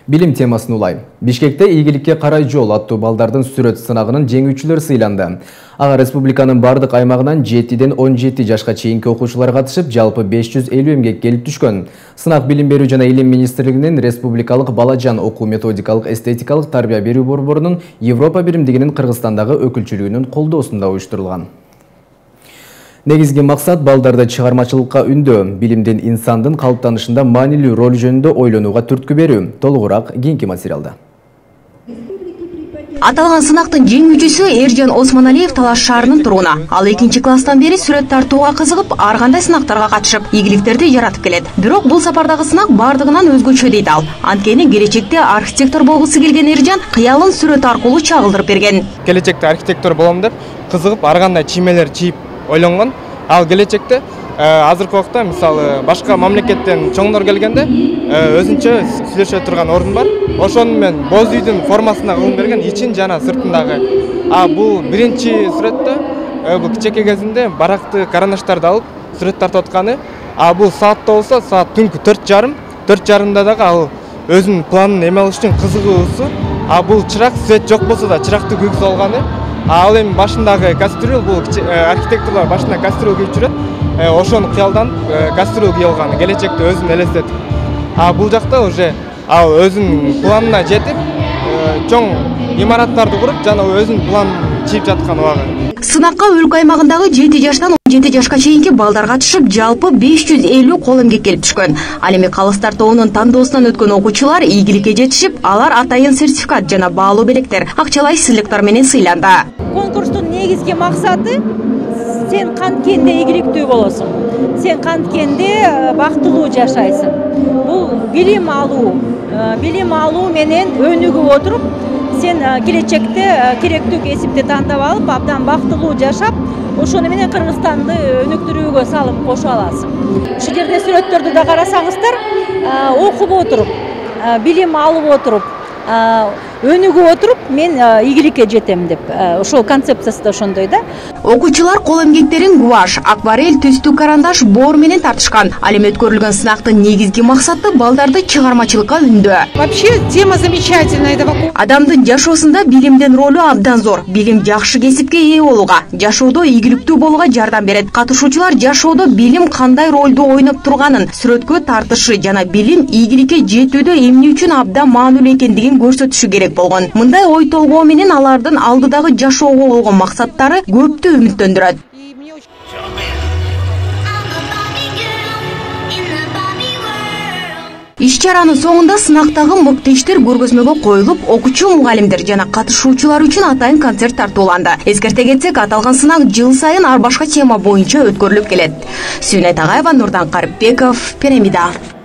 Билим темасын улай. Бишкекте ийгиликке карай жол аттуу балдардын сүрөт сынагынын жеңүүчүлөрү сыйланды. Ага республиканын бардык аймагынан 7ден 17 жашка чейинки окуучулар катышып, жалпы 550 эмгек келип түшкөн. Сынак Билим берүү жана Илим министрлигинин Республикалык балажан окуу методикалык эстетикалык тарбия берүү борборунун Европа биримдигинин Кыргызстандагы өкүлчүлүгүнүн колдоосунда уюштурулган. Негизги максат балдарды чыгармачылыкка үндөө, билимдин инсандын калыптанышында маанилүү роль жөнүндө ойлонууга түрткү берүү. Толугураак кийинки материалда. Аталган сынактын жеңүүчүсү Эржан Осмоналиев Талаш шаарынын тургуну. Ал 2-класстан бери сүрөт тартууга кызыгып, ар кандай сынактарга катышып, ийгиликтерди жаратып келет. Бирок бул сапардагы сынак бардыгынан өзгөчө дейт ал. Анткени келечекте архитектор болгусу келген Эржан кыялын сүрөт аркылуу чагылдырып берген. Келечекте архитектор болом деп кызыгып, ар кандай чиймелер чийип ойлонгон. Ал келечекте азыркы убакта мисалы башка мамлекеттен чоңдор келгенде өзүнчө сүйлөшө турган орун бар. Ошону мен боз үйдүн формасына кылып берген, ичин жана сыртындагы. Бул биринчи сүрөттө бул кичеке кезинде баракты карандаштарды алып сүрөт тартып атканы. Бул саатта болсо саат түнкү 4:30 дагы ал өзүнүн планын эме алыш үчүн кызыгуусу. Бул чырак свет жок болсо да чыракты күйгүзүп алганы. Ал эми башындагы кастрюль, бул архитекторлор башына кастрюль кийип жүрөт. Ошону кыялдан кастрюль кийип алганы, келечекте өзүн элестетип. Бул жакта уже ал өзүнүн планына жетип, чоң имараттарды куруп, жана өзүнүн планын чийип жаткан убагы. Сынакка өлкө аймагындагы 7 жаштан 17 жашка чейинки балдар катышып, жалпы 550 кол эмгек келип түшкөн. Ал эми калыстар тобунун тандоосунан өткөн окуучулар ийгиликке жетишип, алар атайын сертификат жана баалуу белектер, акчалай сыйлыктар менен сыйланды. Конкурстун негизги максаты сен канткенде ийгиликтүү болосуң. Сен канткенде бактылуу жашайсың. Бул билим алуу менен өнүгүп отуруп, сен келечекте керектүү кесипти тандап алып, абдан бактылуу жашап, ошону менен Кыргызстанды өнүктүрүүгө салым кошо аласың. Ушул жерде сүрөттөрдү да карасаңыздар, окуп отуруп, билим алып отуруп, өнүгүп отуруп, мен ийгиликке жетем деп, ошол концепциясы да ошондой да. Окуучулар кол эмгектерин гуаш, акварель, түстүү карандаш, боор менен тартышкан. Ал эми өткөрүлгөн сынактын негизги максаты балдарды чыгармачылыкка үндөө. Вообще тема замечательная. Адамдын жашоосунда билимдин ролу абдан зор. Билим жакшы кесипке ээ болууга, жашоодо ийгиликтүү болууга жардам берет. Катышуучулар жашоодо билим кандай ролду ойноп турганын, сүрөткө тартышы жана билим ийгиликке жетүүдө эмне үчүн абдан маанилүү экендигин көрсөтүшү керек болгон. Мындай ой толгоо менен алардын алдыдагы жашоого болгон максаттары көптү үмүттөндүрөт. Иш-чаранын соңунда сынактагы мыкты иштер көргөзмөгө коюлуп, окуучу мугалимдер жана катышуучулар үчүн атайын концерт тартууланды. Эскерте кетсек, аталган сынак жыл сайын ар башка тема боюнча өткөрүлүп келет. Сүйнөт Агаева, Нурдан Карипбеков, Пирамида.